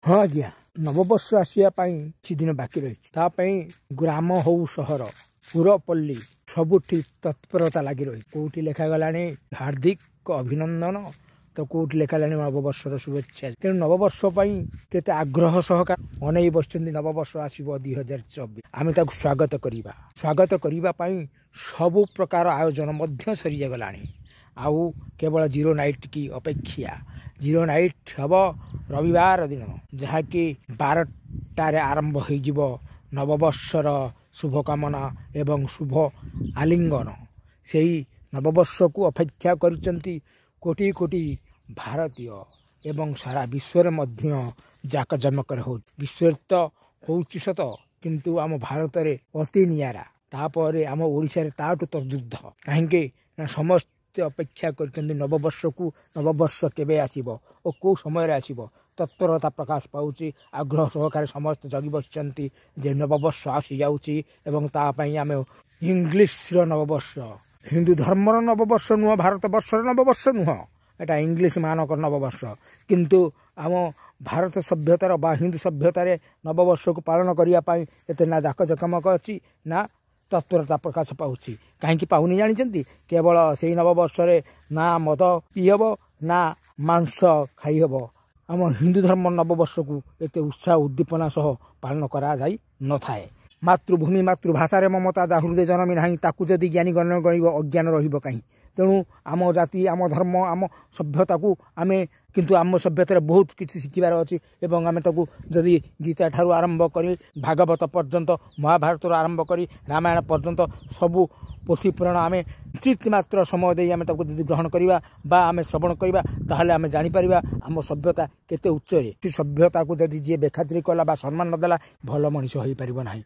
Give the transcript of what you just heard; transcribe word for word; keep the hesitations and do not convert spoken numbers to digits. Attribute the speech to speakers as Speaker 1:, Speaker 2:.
Speaker 1: ହଁ ଆଜ୍ଞା, ନବବର୍ଷ ଆସିବା ପାଇଁ କିଛି ଦିନ ବାକି ରହିଛି। ତା ପାଇଁ ଗ୍ରାମ ହଉ ସହର, ପୁରପଲ୍ଲୀ ସବୁଠି ତତ୍ପରତା ଲାଗି ରହିଛି। କୋଉଠି ଲେଖାଗଲାଣି ହାର୍ଦ୍ଦିକ ଅଭିନନ୍ଦନ ତ କୋଉଠି ଲେଖାଗଲାଣି ନବବର୍ଷର ଶୁଭେଚ୍ଛା। ତେଣୁ ନବବର୍ଷ ପାଇଁ କେତେ ଆଗ୍ରହ ସହକାରେ ଅନେଇ ବସିଛନ୍ତି। ନବବର୍ଷ ଆସିବ ଦୁଇ ହଜାର ଚବିଶ, ଆମେ ତାକୁ ସ୍ୱାଗତ କରିବା। ସ୍ୱାଗତ କରିବା ପାଇଁ ସବୁ ପ୍ରକାର ଆୟୋଜନ ମଧ୍ୟ ସରିଗଲାଣି, ଆଉ କେବଳ ଜିରୋ ନାଇଟ୍ କି ଅପେକ୍ଷା। ଜିରୋ ନାଇଟ୍ ହେବ ରବିବାର ଦିନ, ଯାହାକି ବାରଟାରେ ଆରମ୍ଭ ହୋଇଯିବ ନବବର୍ଷର ଶୁଭକାମନା ଏବଂ ଶୁଭ ଆଲିଙ୍ଗନ। ସେଇ ନବବର୍ଷକୁ ଅପେକ୍ଷା କରିଛନ୍ତି କୋଟି କୋଟି ଭାରତୀୟ ଏବଂ ସାରା ବିଶ୍ୱରେ ମଧ୍ୟ ଜାକଜମକରେ ହେଉଛି। ବିଶ୍ୱରେ ତ ହେଉଛି ସତ, କିନ୍ତୁ ଆମ ଭାରତରେ ଅତି ନିଆରା, ତାପରେ ଆମ ଓଡ଼ିଶାରେ ତାଠୁ ତଦୁର୍ଦ୍ଧ। କାହିଁକି ନା ସମସ୍ତେ ଅପେକ୍ଷା କରିଛନ୍ତି ନବବର୍ଷକୁ। ନବବର୍ଷ କେବେ ଆସିବ ଓ କେଉଁ ସମୟରେ ଆସିବ, ତତ୍ପରତା ପ୍ରକାଶ ପାଉଛି। ଆଗ୍ରହ ସହକାରେ ସମସ୍ତେ ଜଗି ବସିଛନ୍ତି ଯେ ନବବର୍ଷ ଆସିଯାଉଛି ଏବଂ ତା ପାଇଁ ଆମେ ଇଂଲିଶର ନବବର୍ଷ, ହିନ୍ଦୁ ଧର୍ମର ନବବର୍ଷ ନୁହଁ, ଭାରତ ବର୍ଷର ନବବର୍ଷ ନୁହଁ, ଏଟା ଇଂଲିଶ ମାନଙ୍କର ନବବର୍ଷ। କିନ୍ତୁ ଆମ ଭାରତ ସଭ୍ୟତାର ବା ହିନ୍ଦୁ ସଭ୍ୟତାରେ ନବବର୍ଷକୁ ପାଳନ କରିବା ପାଇଁ ଏତେ ନା ଜାକଜମକ ଅଛି ନା ତତ୍ପରତା ପ୍ରକାଶ ପାଉଛି। କାହିଁକି ପାଉନି ଜାଣିଛନ୍ତି? କେବଳ ସେଇ ନବବର୍ଷରେ ନା ମଦ ପିଇହେବ ନା ମାଂସ ଖାଇହେବ। ଆମ ହିନ୍ଦୁ ଧର୍ମ ନବବର୍ଷକୁ ଏତେ ଉତ୍ସାହ ଉଦ୍ଦୀପନା ସହ ପାଳନ କରାଯାଇ ନଥାଏ। ମାତୃଭୂମି ମାତୃଭାଷାରେ ମମତା ଯା ହୃଦୟ ଜନମି ନାହିଁ, ତାକୁ ଯଦି ଜ୍ଞାନୀ ଗଣ ଗଣିବ ଅଜ୍ଞାନ ରହିବ କାହିଁ? ତେଣୁ ଆମ ଜାତି, ଆମ ଧର୍ମ, ଆମ ସଭ୍ୟତାକୁ ଆମେ କିନ୍ତୁ ଆମ ସଭ୍ୟତାରେ ବହୁତ କିଛି ଶିଖିବାର ଅଛି ଏବଂ ଆମେ ତାକୁ ଯଦି ଗୀତା ଠାରୁ ଆରମ୍ଭ କରି ଭାଗବତ ପର୍ଯ୍ୟନ୍ତ, ମହାଭାରତରୁ ଆରମ୍ଭ କରି ରାମାୟଣ ପର୍ଯ୍ୟନ୍ତ ସବୁ ପୋଥି ପୁରାଣ ଆମେ କିଞ୍ଚିତ ମାତ୍ର ସମୟ ଦେଇ ଆମେ ତାକୁ ଯଦି ଗ୍ରହଣ କରିବା ବା ଆମେ ଶ୍ରବଣ କରିବା, ତାହେଲେ ଆମେ ଜାଣିପାରିବା ଆମ ସଭ୍ୟତା କେତେ ଉଚ୍ଚରେ। ସେ ସଭ୍ୟତାକୁ ଯଦି ଯିଏ ବେଖାତିରି କଲା ବା ସମ୍ମାନ ନଦେଲା, ଭଲ ମଣିଷ ହୋଇପାରିବ ନାହିଁ।